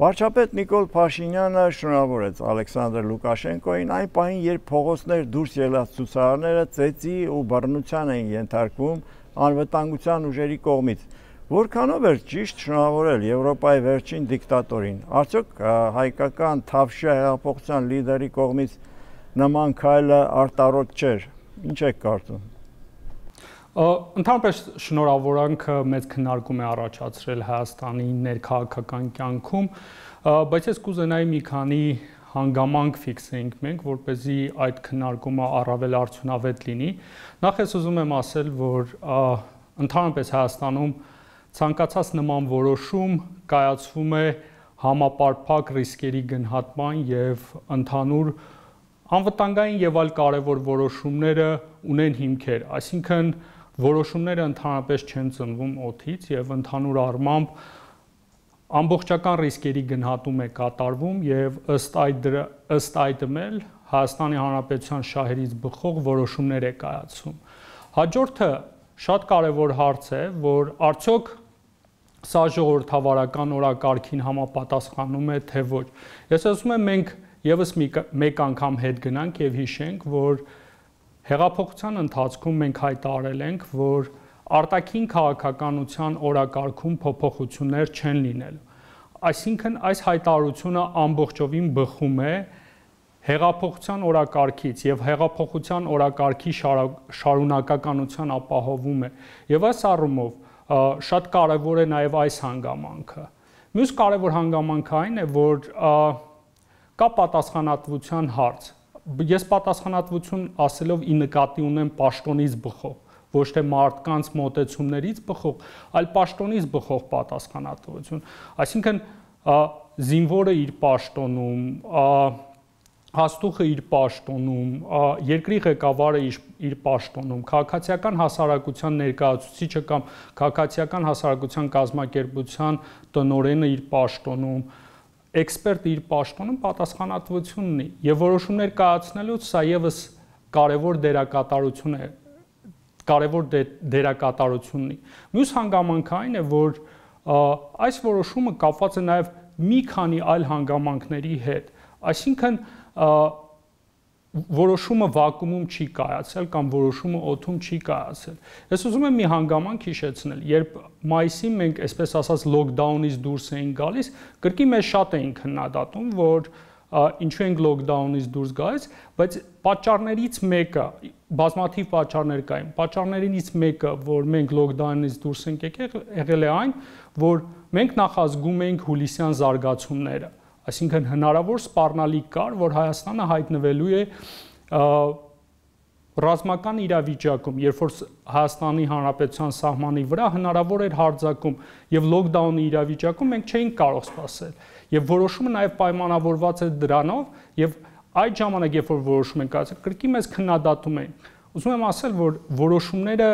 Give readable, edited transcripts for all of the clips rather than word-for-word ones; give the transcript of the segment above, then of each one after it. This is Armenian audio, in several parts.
Վարչապետ Նիկոլ Փաշինյանը շնորհավորեց Ալեքսանդր Լուկաշենկոին այն պահին, երբ փողոցներ դուրս ելած ցուցարարները ծեծի ու բռնության էին ենթարկվում անվտանգության ուժերի կողմից։ Որքանով էր ճիշտ շնորհավորել Եվրոպայի վերջին դիկտատորին։ Արդյոք հայկական Թավշյա հեղափոխության լիդերի կողմից նման քայլը արտարոտ չէր։ Ինչ եք կարծում։ Ընդհանրապես շնորհավորանքը մեծ քննարկում է առաջացրել Հայաստանի ներքաղաքական կյանքում, բայց ես կուզենայի մի քանի հանգամանք ֆիքսեինք մենք, որպեսզի այդ քննարկումը առավել արդյունավետ լինի։ Նախ ես ուզում եմ ասել, որ ընդհանրապես Հայաստանում ցանկացած նման որոշում կայացվում է համապարփակ ռիսկերի գնահատման եւ ընդհանուր անվտանգային եւ այլ կարևոր որոշումները ունեն հիմքեր, այսինքն որոշումները ընդհանրապես չեն ծնվում օդից եւ ընդհանուր առմամբ ամբողջական ռիսկերի գնահատում է կատարվում եւ ըստ այդմ էլ Հայաստանի Հանրապետության շահերից բխող որոշումներ է կայացվում։ Հաջորդը շատ կարևոր հարց է, որ արդյոք սա ժողովրդավարական օրակարգին համապատասխանում է թե ոչ։ Ես ասում եմ մենք եւս մեկ անգամ հետ գնանք եւ հիշենք, որ հեղափոխության ընթացքում մենք հայտարարել ենք, որ արտաքին քաղաքականության օրակարգում փոփոխություններ չեն լինելու։ Այսինքն այս հայտարարությունը ամբողջովին բխում է հեղափոխության օրակարգից եւ հեղափոխության օրակարգի շարունակականության ապահովում է։ Եվ այս առումով շատ կարեւոր է նաեւ այս հանգամանքը։ Մյուս կարեւոր հանգամանքը այն է, որ կա պատասխանատվության հարց։ Ես պատասխանատվություն ասելով ի նկատի ունեմ պաշտոնից բխող, ոչ թե մարդկանց մոտեցումներից բխող, այլ պաշտոնից բխող պատասխանատվություն։ Այսինքն զինվորը իր պաշտոնում, հաստուխը իր պաշտոնում, երկրի ղեկավարը իր պաշտոնում, քաղաքացիական հասարակության ներկայացուցիչը կամ քաղաքացիական հասարակության կազմակերպության տնօրենը իր պաշտոնում, էքսպերտ իր պաշտոնում պատասխանատվություն ունի եւ որոշումներ կայացնելուց սա եւս կարևոր դերակատարություն ունի։ Մյուս հանգամանքը այն է, որ այս որոշումը կապված է նաեւ մի քանի այլ հանգամանքների հետ, այսինքն որոշումը վակուումում չի կայացել կամ որոշումը օդում չի կայացել։ Ես ուզում եմ մի հանգամանք հիշեցնել, երբ մայիսին մենք այսպես ասած լոկդաունից դուրս էինք գալիս, կրկին մեզ շատ էին քննադատում, որ ինչու ենք լոկդաունից դուրս գալիս, բայց պատճառներից մեկը, բազմաթիվ պատճառներ կային, պատճառներից մեկը, որ մենք լոկդաունից դուրս ենք եկել է այն, որ մենք նախազգում էինք հուլիսյան զարգացումները, այսինքն հնարավոր սպառնալիք կար, որ Հայաստանը հայտնվելու է ռազմական իրավիճակում, երբ որ Հայաստանի Հանրապետության սահմանի վրա հնարավոր էր հարձակում եւ լոկդաունի իրավիճակում մենք չէինք կարող սպասել եւ որոշումը նաեւ պայմանավորված էր դրանով եւ այդ ժամանակ երբ որ որոշում ենք կայացել կրկին մեզ քննադատում էին։ Ուզում եմ ասել, որ որոշումները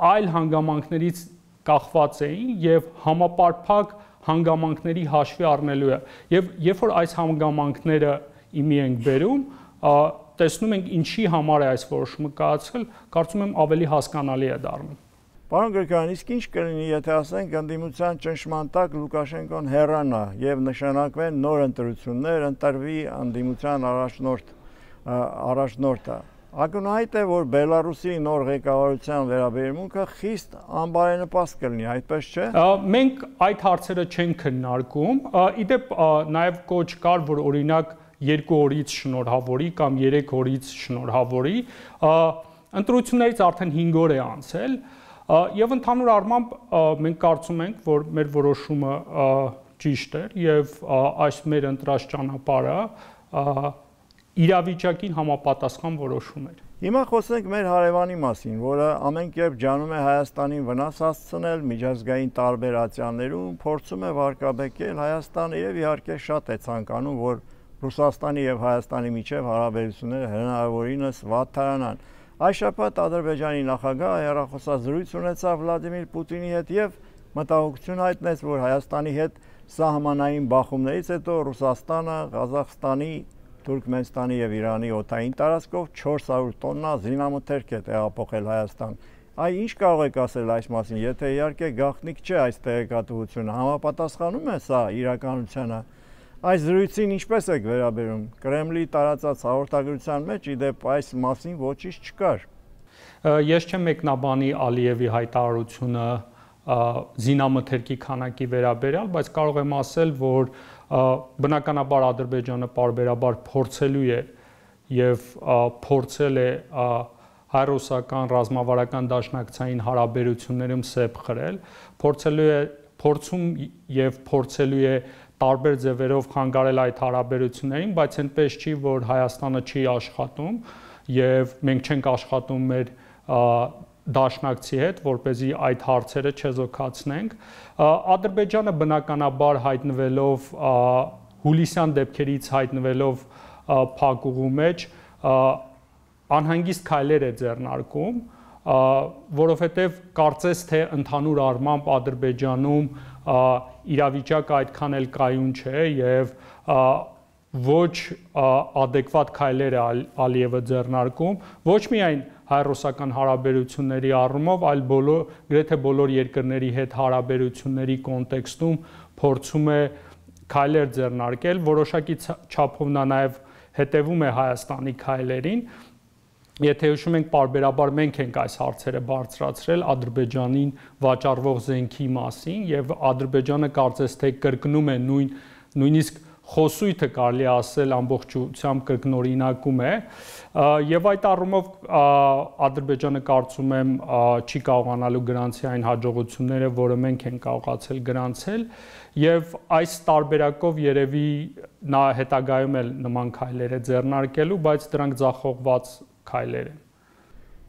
այլ հանգամանքներից կախված էին եւ համապարփակ հանգամանքների հաշվի առնելու է եւ երբ որ այս հանգամանքները իմի ենք բերում, տեսնում ենք ինչի համար է այս որոշումը կայացել, կարծում եմ ավելի հասկանալի է դառնում։ Պարոն Գրիգորյան, իսկ ինչ կլինի, եթե ասենք ընդդիմության ճնշման տակ Լուկաշենկոն հեռանա եւ նշանակվեն նոր ընտրություններ, ընտրվի ընդդիմության առաջնորդը։ Ակնհայտ է, որ Բելարուսի նոր ղեկավարության վերաբերմունքը խիստ անբարենպաստ կլինի, այդպես չէ։ Մենք այդ հարցերը չենք քննարկում։ Իդեպ նաև կոչ կար, որ օրինակ 2 օրից շնորհավորի կամ 3 օրից շնորհավորի։ Ընտրություններից արդեն 5 օր է անցել, եւ ընդհանուր առմամբ մենք կարծում ենք, որ մեր որոշումը ճիշտ էր եւ այս մեր ընտրած ճանապարհը իրավիճակին համապատասխան որոշում էր։ Հիմա խոսենք մեր հարևանի մասին, որը ամեն կերպ ջանում է Հայաստանին վնաս հասցնել միջազգային տարբեր ատյաններում, փորձում է վարկաբեկել Հայաստանը եւ իհարկե շատ է ցանկանում, որ Ռուսաստանի եւ Հայաստանի միջև հարաբերությունները հնարավորինս վատթարանան։ Այս շաբաթ Ադրբեջանի նախագահը հեռախոսազրույց ունեցավ Վլադիմիր Պուտինի հետ եւ մտահոգություն հայտնեց, որ Հայաստանի հետ սահմանային բախումներից հետո Ռուսաստանը Ղազախստանի, Թուրքմենստանի եւ Իրանի օդային տարածքով 400 տոննա զինամթերք է տեղափոխել Հայաստան։ Այ ինչ կարող եք ասել այս մասին, եթե իհարկե գաղտնիք չէ այս տեղեկատվությունը, համապատասխանում է սա իրականությանը։ Այս զրույցին ինչպես եք վերաբերում։ Կրեմլի տարածած հաղորդագրության մեջ իդեպ այս մասին ոչինչ չկար։ Ես չեմ մեկնաբանի Ալիևի հայտարարությունը զինամթերքի քանակի վերաբերյալ, բայց կարող եմ ասել, որ բնականաբար Ադրբեջանը պարբերաբար փորձելու է եւ փորձել է հայ-ռուսական ռազմավարական դաշնակցային հարաբերություններում սեպ խրել, փորձում եւ փորձելու է տարբեր ձևերով խանգարել այդ հարաբերություններին, բայց այնպես չի, որ Հայաստանը չի աշխատում եւ մենք չենք աշխատում մեր դաշնակցի հետ, որպեսզի այդ հարցերը չեզոքացնենք։ Ադրբեջանը բնականաբար հայտնվելով հուլիսյան դեպքերից հայտնվելով փակուղու մեջ անհանգիստ քայլեր է ձեռնարկում, որովհետև կարծես թե ընդհանուր առմամբ Ադրբեջանում իրավիճակը այդքան էլ կայուն չէ եւ ոչ adekvat քայլեր է Ալիևը ձեռնարկում, ոչ միայն հայ-ռուսական հարաբերությունների առումով, այլ գրեթե բոլոր երկրների հետ հարաբերությունների կոնտեքստում փորձում է քայլեր ձեռնարկել, որոշակի չափով նա նաեւ հետևում է Հայաստանի քայլերին։ Եթե հիշում ենք, պարբերաբար մենք ենք այս հարցերը բարձրացրել Ադրբեջանին վաճառվող զենքի մասին եւ Ադրբեջանը կարծես թե կրկնում է նույնիսկ խոսույթը կարելի է ասել ամբողջությամբ կրկնօրինակում է եւ այդ առումով Ադրբեջանը կարծում եմ չի կարողանալու գրանցի այն հաջողությունները, որը մենք ենք կարողացել գրանցել եւ այս տարբերակով երևի նա հետագայում էլ նման քայլեր է ձեռնարկելու, բայց դրանք ձախողված քայլեր են։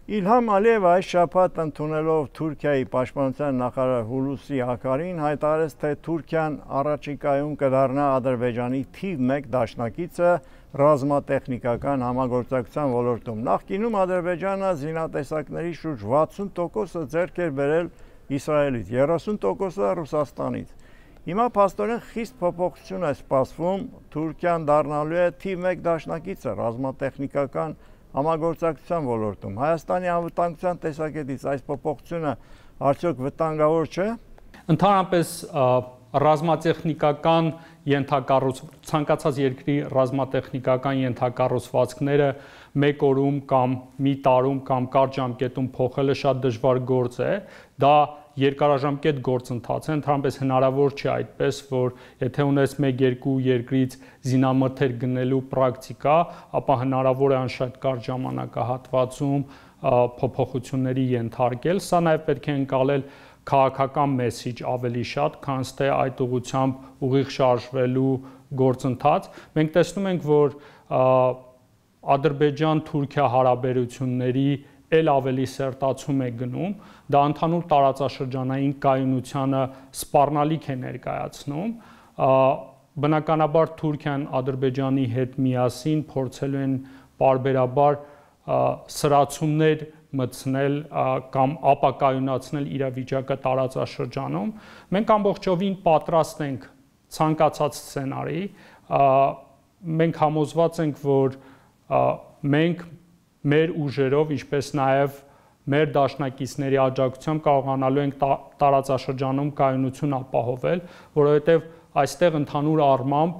Իլհամ Ալիևը այս շաբաթ ընդունելով Թուրքիայի պաշտպանության նախարար Հուլուսի Ակարին հայտարարեց, թե Թուրքիան առաջիկայում կդառնա Ադրբեջանի թիվ 1 դաշնակիցը ռազմատեխնիկական համագործակցության ոլորտում։ Նախկինում Ադրբեջանը զինատեսակների շուրջ 60%-ը ձեռք էր բերել Իսրայելից, 30%-ը Ռուսաստանից։ Հիմա փաստորեն խիստ փոփոխություն է սպասվում, Թուրքիան դառնալու է թիվ 1 դաշնակիցը ռազմատեխնիկական համագործակցության ոլորտում։ Հայաստանի անվտանգության տեսակետից այս փոփոխությունը արդյոք վտանգավոր չէ։ Ընդհանրապես ռազմատեխնիկական ցանկացած երկրի ռազմատեխնիկական ենթակառուցվածքները մեկ օրում կամ մի տարում կամ կարճ ժամկետում փոխելը շատ դժվար գործ է։ Դա երկարաժամկետ գործընթաց է, ընդհանրապես հնարավոր չէ այդպես, որ եթե ունես 1-2 երկրից զինամթերք գնելու պրակտիկա, ապա հնարավոր է անշատ կարճ ժամանակահատվածում փոփոխությունների ենթարկել։ Սա նաև պետք է ընկալել քաղաքական մեսիջ ավելի շատ, քան թե այդ ուղղությամբ ուղիղ շարժվելու գործընթաց։ Մենք տեսնում ենք, որ Ադրբեջան-Թուրքիա հարաբերությունների էլ ավելի սերտացում է գնում, դա ընդհանուր տարածաշրջանային կայունությանը սպառնալիք է ներկայացնում։ Բնականաբար Թուրքիան Ադրբեջանի հետ միասին փորձելու են պարբերաբար սրացումներ մտցնել կամ ապակայունացնել իրավիճակը տարածաշրջանում։ Մենք ամբողջովին պատրաստ ենք ցանկացած սցենարի։ Մենք համոզված ենք, որ մենք մեր ուժերով, ինչպես նաև մեր դաշնակիցների աջակցությամբ կարողանալու ենք տարածաշրջանում կայունություն ապահովել, որովհետև այստեղ ընդհանուր առմամբ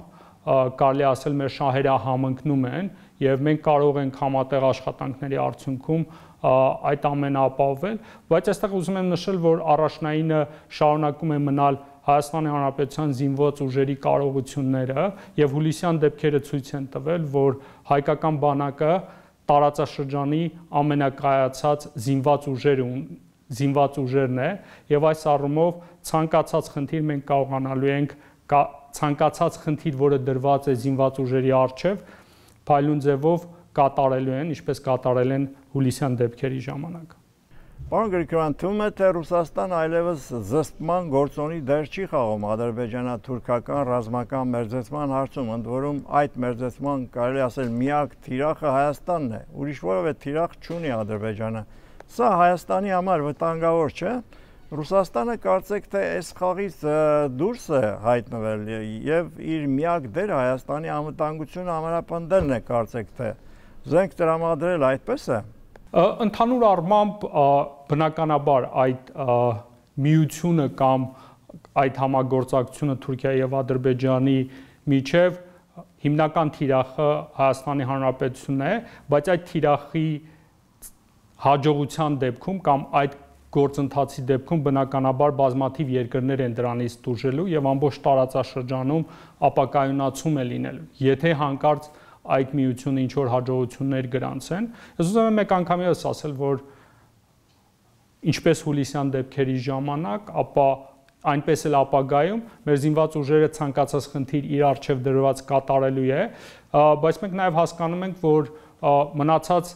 կարելի ասել մեր շահերը համընկնում են եւ մենք կարող ենք համատեղ աշխատանքների արդյունքում այդ ամենը ապահովել, բայց այստեղ ուզում եմ նշել, որ առաջնայինը շարունակում է մնալ Հայաստանի Հանրապետության զինված ուժերի կարողությունները եւ հուլիսյան դեպքերը ցույց են տվել, որ հայկական բանակը տարածաշրջանի ամենակայացած զինված ուժերն է եւ այս առումով ցանկացած խնդիր մենք կարողանալու ենք ցանկացած խնդիր, որը դրված է զինված ուժերի առջև, փայլուն ձևով կատարելու են, ինչպես կատարել են հուլիսյան դեպքերի ժամանակ։ Պարոն Գրիգորյան, թվում է, թե Ռուսաստան այլևս զսպման գործոնի դեր չի խաղում ադրբեջանա-թուրքական ռազմական մերձեցման հարցում, ընդ որում այդ մերձեցման կարելի ասել միակ թիրախը Հայաստանն է, ուրիշ որևէ թիրախ չունի Ադրբեջանը։ Սա Հայաստանի համար վտանգավոր չէ։ Ռուսաստանը կարծեք թե այս խաղից դուրս է հայտնվել եւ իր միակ դերը Հայաստանի անվտանգությունը ամրապնդելն է, կարծեք թե զենք տրամադրել, այդպես է։ Ընդհանուր առմամբ բնականաբար այդ միությունը կամ այդ համագործակցությունը Թուրքիայի եւ Ադրբեջանի միջև հիմնական թիրախը Հայաստանի Հանրապետությունն է, բայց այդ թիրախի հաջողության դեպքում կամ այդ գործընթացի դեպքում բնականաբար բազմաթիվ երկրներ են դրանից տուժելու եւ ամբողջ տարածաշրջանում ապակայունացում է լինելու։ Եթե հանկարծ այդ միությունը ինչ որ հաջողություններ գրանցեն, ես ուզում եմ մեկ անգամ եւս ասել, որ ինչպես հուլիսյան դեպքերի ժամանակ, ապա այնպես էլ ապագայում մեր զինված ուժերը ցանկացած խնդիր իր առջև դրված կատարելու է, բայց մենք նաև հասկանում ենք, որ մնացած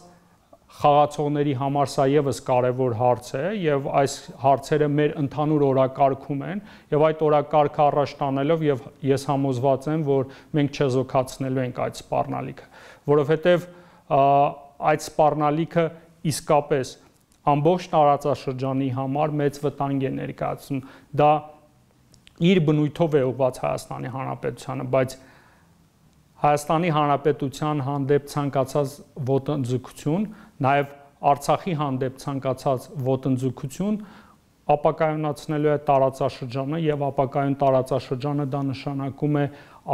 խաղացողների համար սա եւս կարևոր հարց է եւ այս հարցերը մեր ընդհանուր օրակարգում են եւ այդ օրակարգը առաջ տանելով եւ ես համոզված եմ, որ մենք չեզոքացնելու ենք այդ սպառնալիքը, որովհետեւ այդ սպառնալիքը իսկապես ամբողջ տարածաշրջանի համար մեծ վտանգ է ներկայացնում։ Դա իր բնույթով է ուղղված Հայաստանի Հանրապետությանը, բայց Հայաստանի Հանրապետության հանդեպ ցանկացած ոտնձգություն, նաև Արցախի հանդեպ ցանկացած ոտնձգություն ապակայունացնելու է տարածաշրջանը եւ ապակայուն տարածաշրջանը դա նշանակում է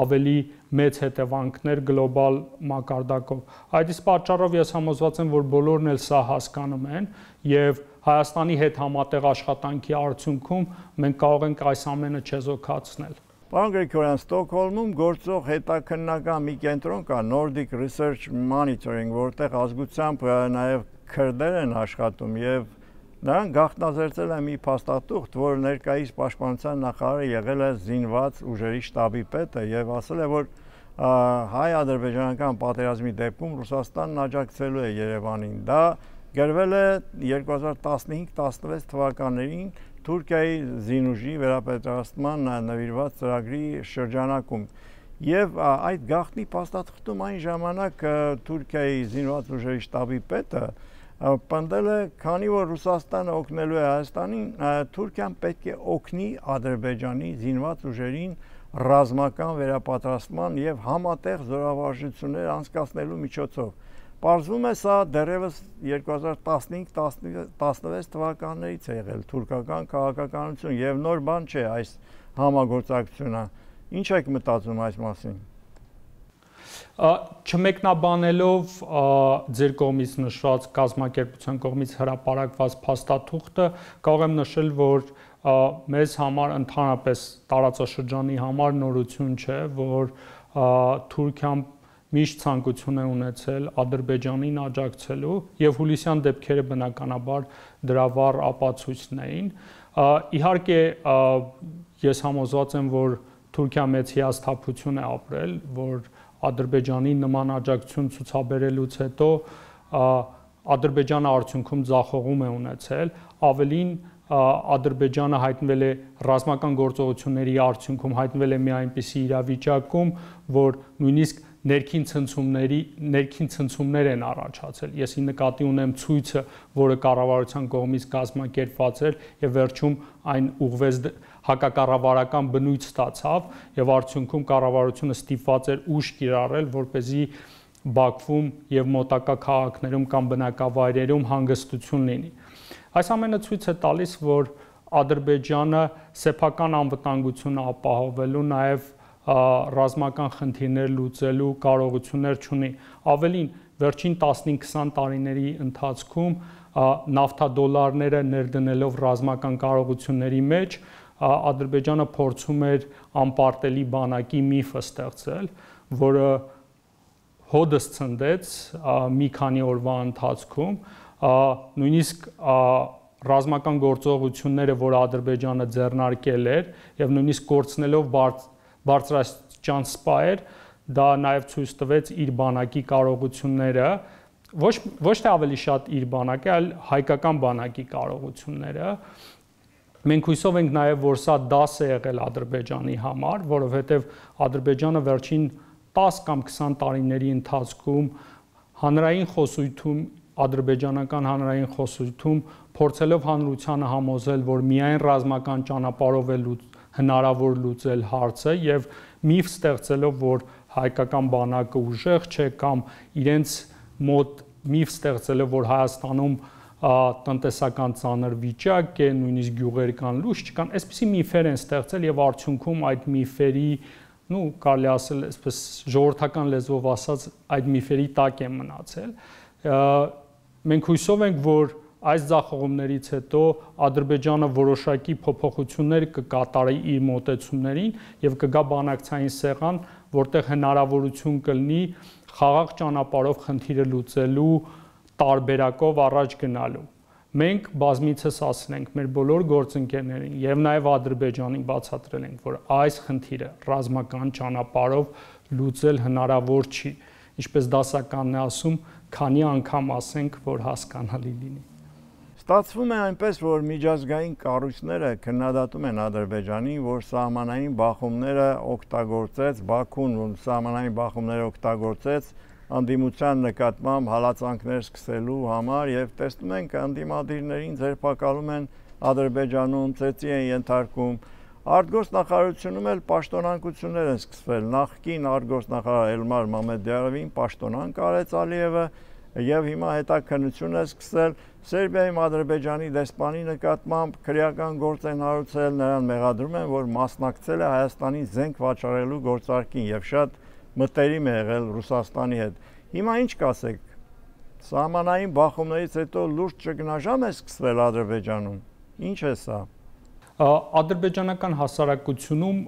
ավելի մեծ հետևանքներ գլոբալ մակարդակով։ Այդ իսկ պատճառով ես համոզված եմ, որ բոլորն էլ սա հասկանում են եւ Հայաստանի հետ համատեղ աշխատանքի արդյունքում մենք կարող ենք այս ամենը չեզոքացնել։ Պարոն Գրիգորյան, Ստոկհոլմում գործող հետաքննական մի կենտրոն կա Nordic Research Monitoring, որտեղ ազգությամբ նաեւ քրդեր են աշխատում եւ նրանք գաղտնազերծել են մի փաստաթուղթ, որ ներկայիս պաշտպանության նախարարը եղել է զինված ուժերի շտաբի պետը եւ ասել է, որ հայ-ադրբեջանական պատերազմի դեպքում Ռուսաստանն աջակցելու է Երևանին։ Դա գրվել է 2015-16 թվականներին Թուրքիայի զինուժի վերապատրաստման նվիրված ծրագրի շրջանակում։ Եվ այդ գաղտնի փաստաթղթում այն ժամանակ Թուրքիայի զինված ուժերի շտաբի պետը պնդել է, քանի որ Ռուսաստանը օգնելու է Հայաստանին, Թուրքիան պետք է օգնի Ադրբեջանի զինված ուժերին ռազմական վերապատրաստման եւ համատեղ զորավարժություններ անցկացնելու միջոցով։ Պարզվում է սա դեռևս 2015-16 թվականներից է եղել թուրքական քաղաքականություն եւ նոր բան չէ այս համագործակցությունը։ Ինչ եք մտածում այս մասին։ Չմեկնաբանելով ձեր կողմից նշված կազմակերպության կողմից հրապարակված փաստաթուղթը, կարող եմ նշել, որ մեզ համար ընդհանրապես տարածաշրջանի համար նորություն չէ, որ Թուրքիան միշտ ցանկություն է ունեցել Ադրբեջանին աջակցելու եւ հուլիսյան դեպքերը բնականաբար դրա վառ ապացույցն էին։ Իհարկե ես համոզված եմ, որ Թուրքիան մեծ հիասթափություն է ապրել, որ Ադրբեջանի նման աջակցություն ցուցաբերելուց հետո Ադրբեջանը արդյունքում ձախողում է ունեցել, ավելին Ադրբեջանը հայտնվել է ռազմական գործողությունների արդյունքում հայտնվել է մի այնպիսի իրավիճակում, որ նույնիսկ ներքին ցնցումներ են առաջացել։ Ես ի նկատի ունեմ ցույցը, որը կառավարության կողմից կազմակերպված էր եւ վերջում այն ուղղվեց հակակառավարական բնույթ ստացավ եւ արդյունքում կառավարությունը ստիպված էր ուժ կիրառել, որպեսզի Բաքվում եւ մոտակա քաղաքներում կամ բնակավայրերում հանգստություն լինի։ Այս ամենը ցույց է տալիս, որ Ադրբեջանը սեփական անվտանգությունը ապահովելու նաեւ ռազմական խնդիրներ լուծելու կարողություններ չունի։ Ավելին, վերջին 15-20 տարիների ընթացքում նավթադոլարները ներդնելով ռազմական կարողությունների մեջ, Ադրբեջանը փորձում էր անպարտելի բանակի միֆը ստեղծել, որը հոդս ցնդեց մի քանի օրվա ընթացքում, նույնիսկ ռազմական գործողությունները, որ Ադրբեջանը ձեռնարկել էր, եւ նույնիսկ կորցնելով բարձրաստիճան սպայեր, դա նաև ցույց տվեց իր բանակի կարողությունները, ոչ թե ավելի շատ իր բանակի, այլ հայկական բանակի կարողությունները։ Մենք հույսով ենք նաև, որ սա դաս է եղել Ադրբեջանի համար, որովհետև Ադրբեջանը վերջին 10 կամ 20 տարիների ընթացքում հանրային խոսույթում, ադրբեջանական հանրային խոսույթում փորձելով հանրությանը համոզել, որ միայն ռազմական ճանապարհով է հնարավոր լուծել հարցը եւ միֆ ստեղծելով, որ հայկական բանակը ուժեղ չէ կամ իրենց մոտ միֆ ստեղծել է, որ Հայաստանում տնտեսական ծանր վիճակ է, նույնիսկ գյուղեր կան լույս չկան, այսպիսի միֆեր են ստեղծել եւ արդյունքում այդ միֆերի, կարելի ասել, այսպես ժողովրդական լեզվով ասած, այդ միֆերի տակ են մնացել։ Մենք հույսով ենք, որ այս ձախողումներից հետո Ադրբեջանը որոշակի փոփոխություններ կկատարի իր մոտեցումներին եւ կգա բանակցային սեղան, որտեղ հնարավորություն կլինի խաղաղ ճանապարհով խնդիրը լուծելու տարբերակով առաջ գնալու։ Մենք բազմիցս ասել ենք մեր բոլոր գործընկերներին եւ նաեւ Ադրբեջանին բացատրել ենք, որ այս խնդիրը ռազմական ճանապարհով լուծել հնարավոր չի։ Ինչպես դասականն է ասում, քանի անգամ ասենք, որ հասկանալի լինի։ Ստացվում է այնպես, որ միջազգային կառույցները քննադատում են Ադրբեջանին, որ սահմանային բախումները օգտագործեց, Բաքուն սահմանային բախումները օգտագործեց անդիմության նկատմամբ հալածանքներ սկսելու համար եւ տեսնում ենք անդիմադիրներին ձերբակալում են Ադրբեջանում, ծեծի են ենթարկում։ Արտգործնախարարությունում էլ պաշտոնանկություններ են սկսվել։ Նախկին արտգործնախարար Էլմար Մամեդյարովին պաշտոնանկ արեց Ալիևը եւ հիմա հետաքննություն է սկսել Սերբիայում Ադրբեջանի դեսպանի նկատմամբ քրեական գործ են հարուցել, նրան մեղադրում են, որ մասնակցել է Հայաստանի զենք վաճառելու գործարքին եւ շատ մտերիմ է եղել Ռուսաստանի հետ։ Հիմա ինչ կասեք։ Սահմանային բախումներից հետո լուրջ ճգնաժամ է սկսվել Ադրբեջանում։ Ինչ է սա։ Ադրբեջանական հասարակությունում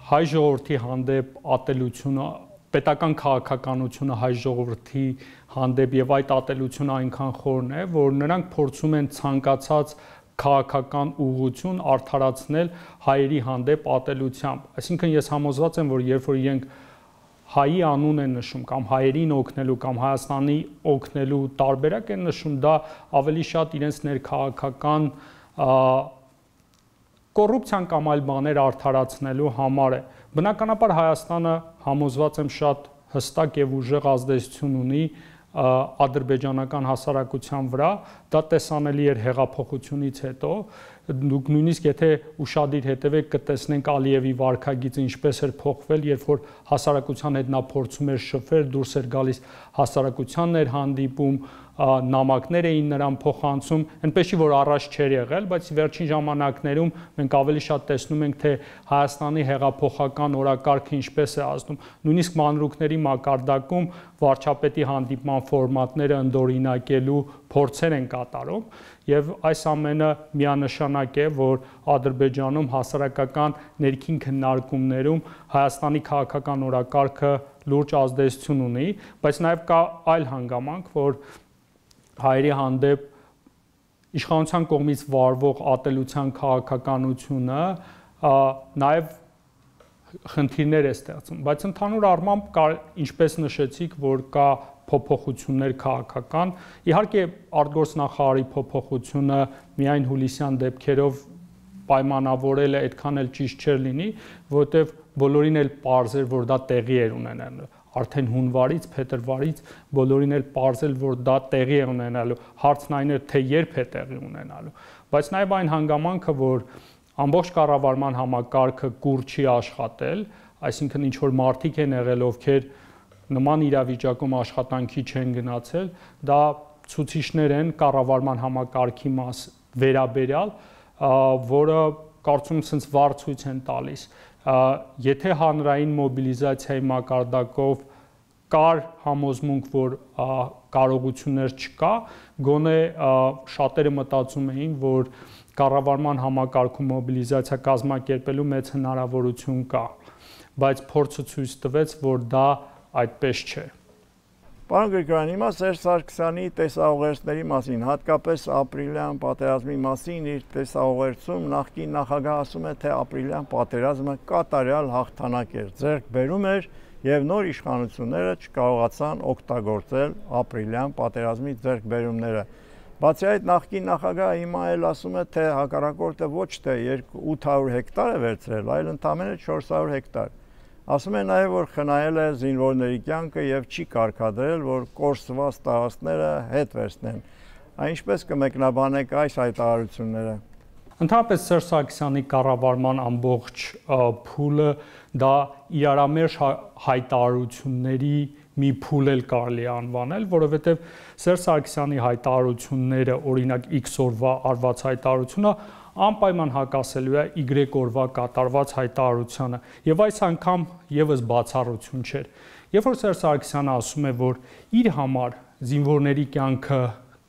հայ ժողովրդի հանդեպ ատելությունը, պետական քաղաքականությունը հայ ժողովրդի հանդեպ եւ այդ ատելությունը այնքան խորն է, որ նրանք փորձում են ցանկացած քաղաքական ուղղություն արդարացնել հայերի հանդեպ ատելությամբ։ Այսինքն ես համոզված եմ, որ երբ որ իրենք հայի անուն են նշում կամ հայերին օգնելու կամ Հայաստանի օգնելու տարբերակ են նշում, դա ավելի շատ իրենց ներքաղաքական կոռուպցիան կամ այլ բաներ արդարացնելու համար է։ Բնականաբար Հայաստանը համոզված եմ շատ հստակ եւ ուժեղ ազդեցություն ունի ադրբեջանական հասարակության վրա, դա տեսանելի էր հեղափոխությունից հետո, դուք նույնիսկ եթե ուշադիր հետևեք կտեսնենք Ալիևի վարքագիծը ինչպես էր փոխվել, երբ որ հասարակության հետ նա փորձում էր շփվել, դուրս էր գալիս հասարակությանն էր հանդիպում, նամակներ էին նրան փոխանցում, այնպես չի որ առաջ չէր եղել, բայց վերջին ժամանակներում մենք ավելի շատ տեսնում ենք, թե Հայաստանի հեղափոխական օրակարգը ինչպես է ազդում, նույնիսկ մանրուքների մակարդակում վարչապետի հանդիպման ֆորմատները ընդօրինակելու փորձեր են կատարում եւ այս ամենը միանշանակ է, որ Ադրբեջանում հասարակական ներքին քննարկումներում Հայաստանի քաղաքական օրակարգը լուրջ ազդեցություն ունի, բայց նաեւ կա այլ հանգամանք, որ հայերի հանդեպ իշխանության կողմից վարվող ատելության քաղաքականությունը նաեւ խնդիրներ է ստեղծում, բայց ընդհանուր առմամբ ինչպես նշեցիք, որ կա փոփոխություններ քաղաքական, իհարկե արտգործնախարարի փոփոխությունը միայն հուլիսյան դեպքերով պայմանավորել է, այդքան էլ ճիշտ չէր լինի, որովհետև բոլորին էլ պարզ էր, որ դա տեղի էր ունենալու, արդեն հունվարից, փետրվարից բոլորին էլ պարզ էր, որ դա տեղի է ունենալու, հարցն այն էր, թե երբ է տեղի ունենալու, բայց նաև այն հանգամանքը, որ ամբողջ կառավարման համակարգը կուր չի աշխատել, այսինքն ինչ որ մարդիկ են եղել, ովքեր նման իրավիճակում աշխատանքի չեն գնացել, դա ցուցիչներ են կառավարման համակարգի վերաբերյալ, որը կարծում եմ sense վառ ցույց են տալիս։ Եթե հանրային մոբիլիզացիայի մակարդակով կար համոզմունք, որ կարողություններ չկա, գոնե շատերը մտածում էին, որ կառավարման համակարգում մոբիլիզացիա կազմակերպելու մեծ հնարավորություն կա, բայց փորձը ցույց տվեց, որ դա այդպես չէ։ Պարոն Գրիգորյան, հիմա Սերժ Սարգսյանի տեսաուղերձների մասին, հատկապես ապրիլյան պատերազմի մասին իր տեսաուղերձում նախկին նախագահ ասում է, թե ապրիլյան պատերազմը կատարյալ հաղթանակ էր, ձեռք բերում էր եւ նոր իշխանությունները չկարողացան օգտագործել ապրիլյան պատերազմի ձեռքբերումները։ Բացի այդ նախկին նախագահը հիմա էլ ասում է, թե հակառակորդը ոչ թե 800 հեկտար է վերցրել, այլ ընդամենը 400 հեկտար։ Ասում է նաև, որ խնայել է զինվորների կյանքը եւ չի կարգադրել, որ կորսված տարածքները հետ վերցնեն։ Ինչպես կմեկնաբանեք այս հայտարարությունները։ Ընդհանրապես Սերժ Սարգսյանի կառավարման ամբողջ փուլը դա իրարամերժ հայտարարությունների մի փուլ էլ կարելի անվանել, որովհետև Սերժ Սարգսյանի հայտարարությունները, օրինակ X օրվա արված հայտարարությունը անպայման հակասելու է Y օրվա կատարված հայտարարությանը, եւ այս անգամ եւս բացառություն չէր։ Երբ որ Սերժ Սարգսյանը ասում է, որ իր համար զինվորների կյանքը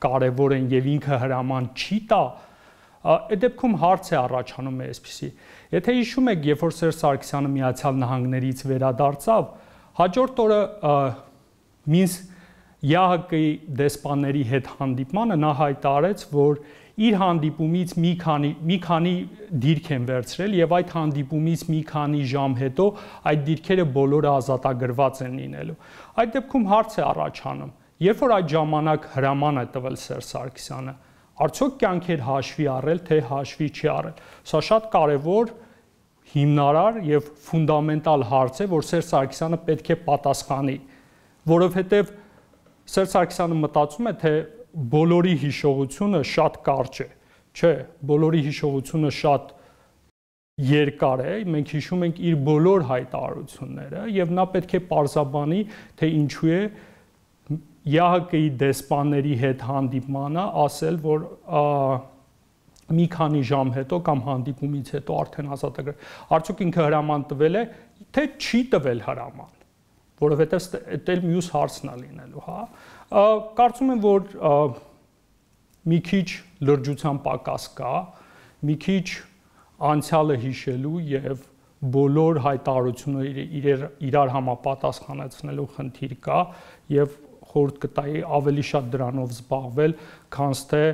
կարևոր են եւ ինքը հրաման չի տա, այդ դեպքում հարց է առաջանում է այսպեսի. Եթե հիշում եք, երբ որ Սերժ Սարգսյանը Միացյալ Նահանգներից վերադարձավ, հաջորդ օրը Մինսկ ՀՀԿ-ի դեսպանների հետ հանդիպմանը նա հայտարարեց, որ իր հանդիպումից մի քանի դիրք են վերցրել եւ այդ հանդիպումից մի քանի ժամ հետո այդ դիրքերը բոլորը ազատագրված են լինելու։ Այդ դեպքում հարց է առաջանում. երբ որ այդ ժամանակ հրաման է տվել Սերժ Սարգսյանը, արդյոք կյանքեր հաշվի առել, թե հաշվի չի առել։ Սա շատ կարևոր, հիմնարար եւ ֆունդամենտալ հարց է, որ Սերժ Սարգսյանը պետք է պատասխանի, որովհետեւ Սերժ Սարգսյանը մտածում է, թե բոլորի հիշողությունը շատ կարճ է, չէ, բոլորի հիշողությունը շատ երկար է, մենք հիշում ենք իր բոլոր հայտարարությունները եւ նա պետք է պարզաբանի, թե ինչու է ՀՀԿ-ի դեսպանների հետ հանդիպմանը ասել, որ մի քանի ժամ հետո կամ հանդիպումից հետո արդեն ազատագրել։ Արդյոք ինքը հրաման տվել է, թե չի տվել հրաման, որովհետեւ դա էլ մյուս հարցն է լինելու, հա։ Կարծում եմ, որ մի քիչ լրջության պակաս կա, մի քիչ անցյալը հիշելու եւ բոլոր հայտարարությունները իրար համապատասխանեցնելու խնդիր կա եւ խորհուրդ կտայի ավելի շատ դրանով զբաղվել, քան թե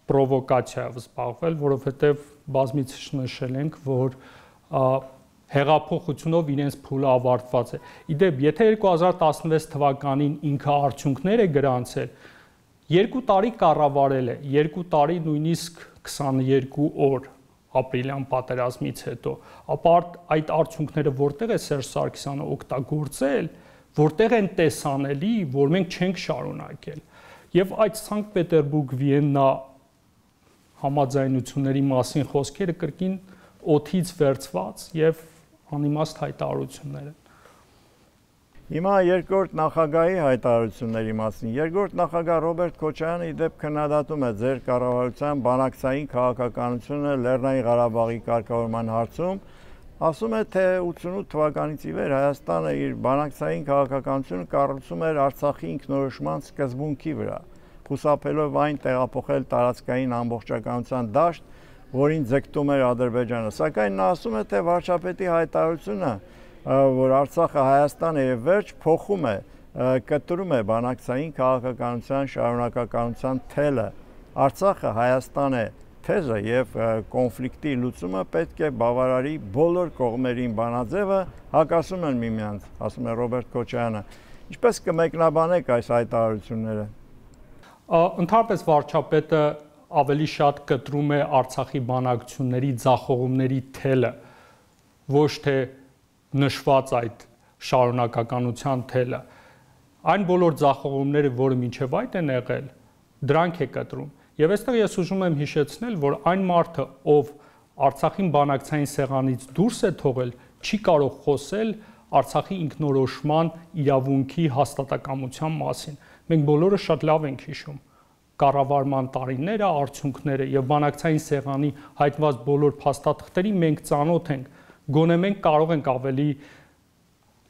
պրովոկացիայով զբաղվել, որովհետեւ բազմիցս նշել ենք, որ հեղափոխությունով իրենց փուլը ավարտված է։ Իդեպ, եթե 2016 թվականին ինքը արդյունքներ է գրանցել, 2 տարի կառավարել է, 2 տարի նույնիսկ 22 օր ապրիլյան պատերազմից հետո, ապա այդ արդյունքները որտեղ է Սերժ Սարգսյանը օգտագործել, որտեղ են տեսանելի, որ մենք չենք շարունակել։ Եվ այդ Սանկտ Պետերբուրգ-Վիեննա համաձայնությունների մասին խոսքերը կրկին օդից վերցված եւ անիմաստ հայտարարություններ են։ Հիմա երկրորդ նախագահի հայտարարությունների մասին։ Երկրորդ նախագահ Ռոբերտ Քոչարյանը իդեպ քննադատում է ձեր կառավարության բանակցային քաղաքականությունը Լեռնային Ղարաբաղի կարգավորման հարցում, ասում է, թե 88 թվականից ի վեր Հայաստանը իր բանակցային քաղաքականությունը կառուցում էր Արցախի ինքնորոշման սկզբունքի վրա, խուսափելով այն տեղափոխել տարածքային ամբողջականության դաշտ, որին ձգտում էր Ադրբեջանը, սակայն նա ասում է, թե վարչապետի հայտարարությունը, որ Արցախը Հայաստան է եւ վերջ, փոխում է, կտրում է բանակցային քաղաքականության շարունակականության թելը։ Արցախը Հայաստան է թեզը եւ կոնֆլիկտի լուծումը պետք է բավարարի բոլոր կողմերին բանաձևը, հակասում են միմյանց, ասում է Ռոբերտ Քոչարյանը։ Ինչպես կմեկնաբանեք այս հայտարարությունները։ Ընդհանրապես վարչապետը ավելի շատ կտրում է Արցախի բանակցությունների ձախողումների թելը, ոչ թե նշված այդ շարունակականության թելը։ Այն բոլոր ձախողումները, որը մինչև այդ են եղել, դրանք է կտրում։ Եվ այստեղ ես ուզում եմ հիշեցնել, որ այն մարդը, ով Արցախին բանակցային սեղանից դուրս է թողել, չի կարող խոսել Արցախի ինքնորոշման իրավունքի հաստատակամության մասին։ Մենք բոլորը շատ լավ ենք հիշում կառավարման տարիները, արդյունքները եւ բանակցային սեղանի հայտնված բոլոր փաստաթղթերի մենք ծանոթ ենք, գոնե մենք կարող ենք ավելի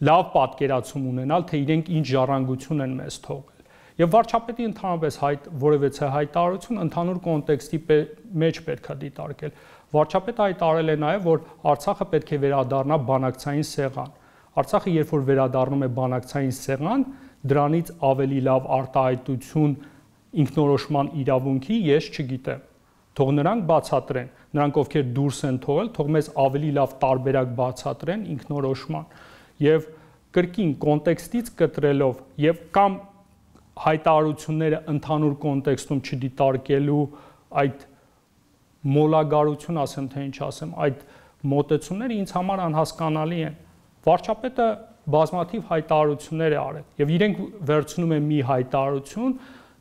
լավ պատկերացում ունենալ, թե իրենք ինչ ժառանգություն են մեզ թողել։ Եվ վարչապետի ընդհանրապես որևէ հայտարարություն ընդհանուր կոնտեքստի մեջ պետք է դիտարկել։ Վարչապետը հայտարարել է նաեւ, որ Արցախը պետք է վերադառնա բանակցային սեղան։ Արցախը երբ որ վերադառնում է բանակցային սեղան, դրանից ավելի լավ արտահայտություն ինքնորոշման իրավունքի ես չգիտեմ։ Թող նրանք բացատրեն, նրանք ովքեր դուրս են թողել, թող մեզ ավելի լավ տարբերակ բացատրեն ինքնորոշման եւ կրկին կոնտեքստից կտրելով եւ կամ հայտարարությունները ընդհանուր կոնտեքստում չդիտարկելու այդ մոլագարություն, ասեմ թե ինչ ասեմ, այդ մոտեցումները ինձ համար անհասկանալի են։ Վարչապետը բազմաթիվ հայտարարություններ է արել եւ իրենք վերցնում են մի հայտարարություն,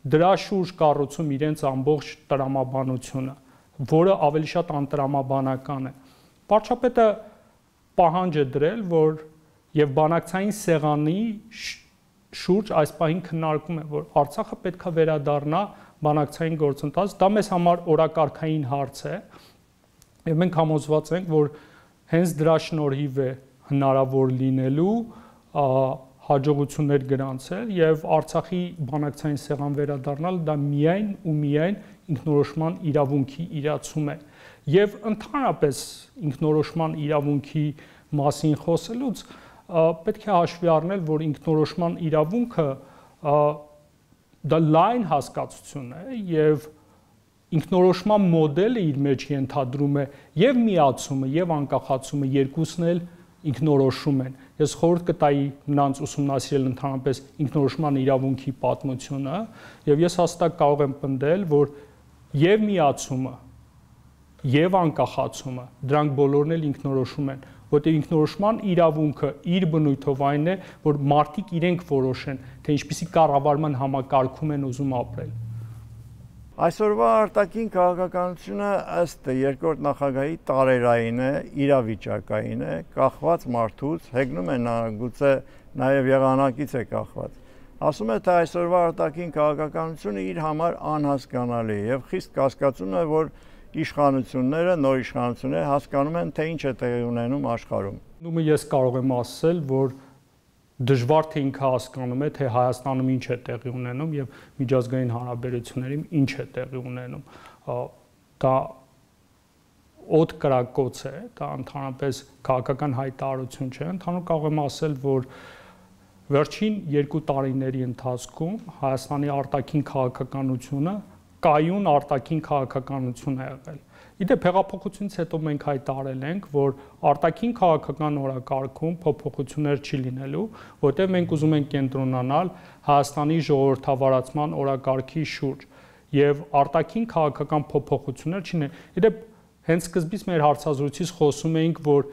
դրա շուրջ կառուցում իրենց ամբողջ տրամաբանությունը։ որը ավելի շատ անտրամաբանական է։ Վարչապետը պահանջ է դրել, որ եւ բանակցային սեղանի շուրջ այս պահին քննարկում է, որ Արցախը պետք է վերադառնա բանակցային գործընթաց, դա մեզ համար օրակարգային հարց է, եւ մենք համոզված ենք, որ հենց դրա շնորհիվ է հնարավոր լինելու հաջողություններ գրանցել եւ Արցախի բանակցային սեղան վերադառնալ դա միայն ու միայն ինքնորոշման իրավունքի իրացում է եւ ընդհանրապես ինքնորոշման իրավունքի մասին խոսելուց պետք է հաշվի առնել, որ ինքնորոշման իրավունքը դա լայն հասկացություն է եւ ինքնորոշման մոդելը իր մեջ ենթադրում է եւ միացումը եւ անկախացումը երկուսն էլ ինքնորոշում են։ Ես խորհուրդ կտայի նրանց ուսումնասիրել ընդհանրապես ինքնորոշման իրավունքի պատմությունը եւ ես հաստատ կարող եմ պնդել, որ եւ միացումը եւ անկախացումը դրանք բոլորն էլ ինքնորոշում են, որտեղ ինքնորոշման իրավունքը իր բնույթով այն է, որ մարդիկ իրենք որոշեն, թե ինչպիսի կառավարման համակարգում են ուզում ապրել։ Այսօրվա արտաքին քաղաքականությունը ըստ երկրորդ նախագահի տարերային է, իրավիճակային է, կախված մարդուց, հեգնում է նա գուցե նաև եղանակից է կախված։ Ասում է, թե այսօրվա արտաքին քաղաքականությունը իր համար անհասկանալի է եւ խիստ կասկածում է, որ իշխանությունները, նոր իշխանությունները հասկանում են, թե ինչ է տեղի ունենում աշխարհում։ Նույնիսկ ես կարող եմ ասել, որ դժվար թե ինքը հասկանում է, թե Հայաստանում ինչ է տեղի ունենում եւ միջազգային հարաբերություններում ինչ է տեղի ունենում։ Դա օդ կրակոց է, դա ընդհանրապես քաղաքական հայտարարություն չէ։ Ընդհանուր կարող եմ ասել, որ վերջին 2 տարիների ընթացքում Հայաստանի արտաքին քաղաքականությունը կայուն արտաքին քաղաքականություն է եղել։ Իդեպ հեղափոխությունից հետո մենք հայտարարել ենք, որ արտաքին քաղաքական օրակարգում փոփոխություններ չի լինելու, որտեղ մենք ուզում ենք կենտրոնանալ Հայաստանի ժողովրդավարացման օրակարգի շուրջ եւ արտաքին քաղաքական փոփոխություններ չինեն։ Իդեպ հենց սկզբից մեր հարցազրույցից խոսում էինք, որ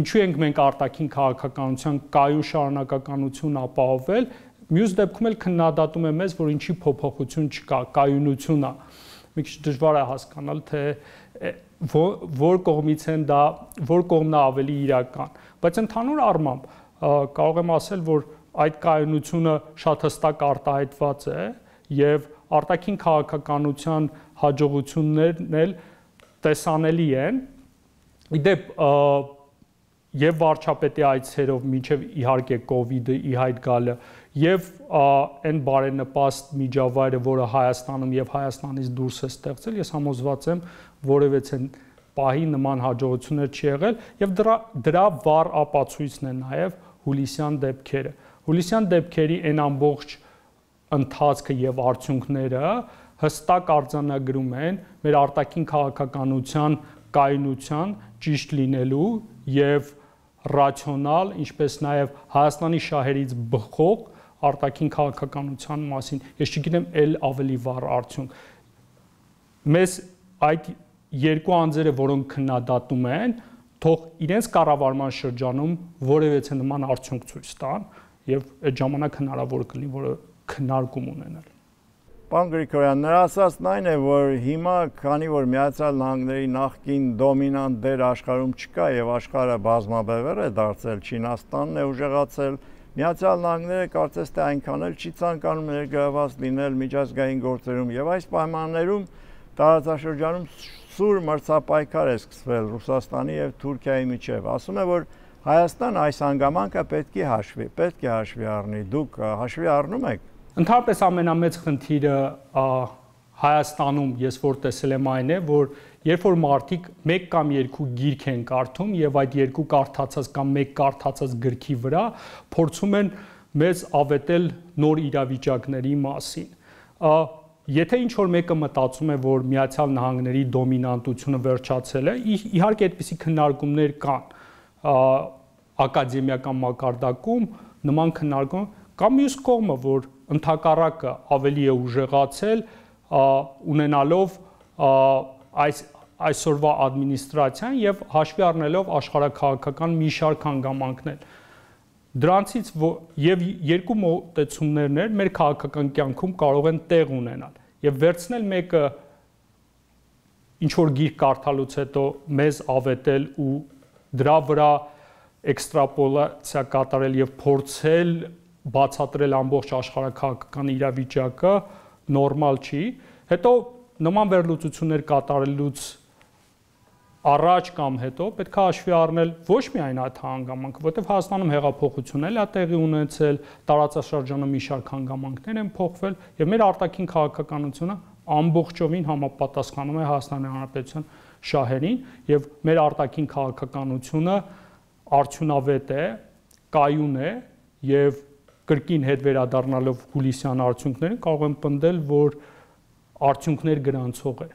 ինչու ենք մենք արտաքին քաղաքականության կայուն շարունակականություն ապահովել, մյուս դեպքում էլ քննադատում է մեզ, որ ինչի փոփոխություն չկա, կայունություն է։ Մի քիչ դժվար է հասկանալ, թե որ կողմից են դա, որ կողմն է ավելի իրական, բայց ընդհանուր առմամբ կարող եմ ասել, որ այդ կայունությունը շատ հստակ արտահայտված է եւ արտաքին քաղաքականության հաջողություններն էլ տեսանելի են։ Իդեպ եւ վարչապետի այցերով մինչեւ իհարկե կոവിഡ്ը ի հայտ գալը եւ այն բարենպաստ միջավայրը, որը Հայաստանում եւ Հայաստանից դուրս է ստեղծել, ես համոզված եմ, որևէ պահի նման հաջողություններ չի եղել եւ դրա վառ ապացույցն է նաեւ հուլիսյան դեպքերը։ Հուլիսյան դեպքերի այն ամբողջ ընթացքը եւ արդյունքները հստակ արձանագրում են մեր արտաքին քաղաքականության կայունության ճիշտ լինելու եւ ռացիոնալ, ինչպես նաեւ Հայաստանի շահերից բխող արտաքին քաղաքականության մասին։ Ես չգիտեմ ել ավելի վառ արդյունք։ Մեզ այդ երկու անձերը, որոնք քննադատում են, թող իրենց կառավարման շրջանում որևէ նման արդյունք ցույց տան եւ այդ ժամանակ հնարավոր կլինի, որը քննարկում ունենալ։ Պարոն Գրիգորյան, նրա ասածն այն է, որ հիմա, քանի որ Միացյալ Նահանգների նախկին դոմինանտ դեր աշխարհում չկա եւ աշխարհը բազմաբևեռ է դարձել, Չինաստանն է ուժեղացել, Միացյալ Նահանգները կարծես թե այնքան էլ չի ցանկանում ներգրավված լինել միջազգային գործերում եւ այս պայմաններում տարածաշրջանում սուր մրցապայքար է սկսվել Ռուսաստանի եւ Թուրքիայի միջեւ։ Ասում է, որ Հայաստան այս հանգամանքը պետք է հաշվի առնի։ Դուք հաշվի առնում եք։ Ընդհանրապես ամենամեծ խնդիրը Հայաստանում ես որ տեսել եմ այն է, որ երբ որ մարդիկ 1 կամ 2 գիրք են կարդում եւ այդ 2 կարդացած կամ 1 կարդացած գրքի վրա փորձում են մեզ ավետել նոր իրավիճակների մասին։ Եթե ինչ որ մեկը մտածում է, որ Միացյալ Նահանգների դոմինանտությունը վերջացել է, իհարկե այդպիսի քննարկումներ կան ակադեմիական մակարդակում, նման քննարկում կամ մյուս կողմը, որ ընդհակառակը ավելի է ուժեղացել, ունենալով այսօրվա ադմինիստրացիան եւ հաշվի առնելով աշխարհաքաղաքական մի շարք հանգամանքներ։ Դրանցից եւ երկու մոտեցումներն մեր քաղաքական կյանքում կարող են տեղ ունենալ եւ վերցնել մեկը ինչ որ գիրք կարդալուց հետո մեզ ավետել ու դրա վրա էքստրապոլացիա կատարել եւ փորձել բացատրել ամբողջ աշխարհաքաղաքական իրավիճակը նորմալ չի։ Հետո նման վերլուծություններ կատարելուց առաջ կամ հետո պետք է հաշվի առնել ոչ միայն այդ հանգամանքը, որտեղ Հայաստանում հեղափոխությունն էլ է տեղի ունեցել, տարածաշրջանը մի շարք հանգամանքներ են փոխվել եւ մեր արտաքին քաղաքականությունը ամբողջովին համապատասխանում է Հայաստանի Հանրապետության շահերին եւ մեր արտաքին քաղաքականությունը արդյունավետ է, կայուն է եւ կրկին հետ վերադառնալով հուլիսյան արդյունքներին կարող են պնդել, որ արդյունքներ գրանցող է։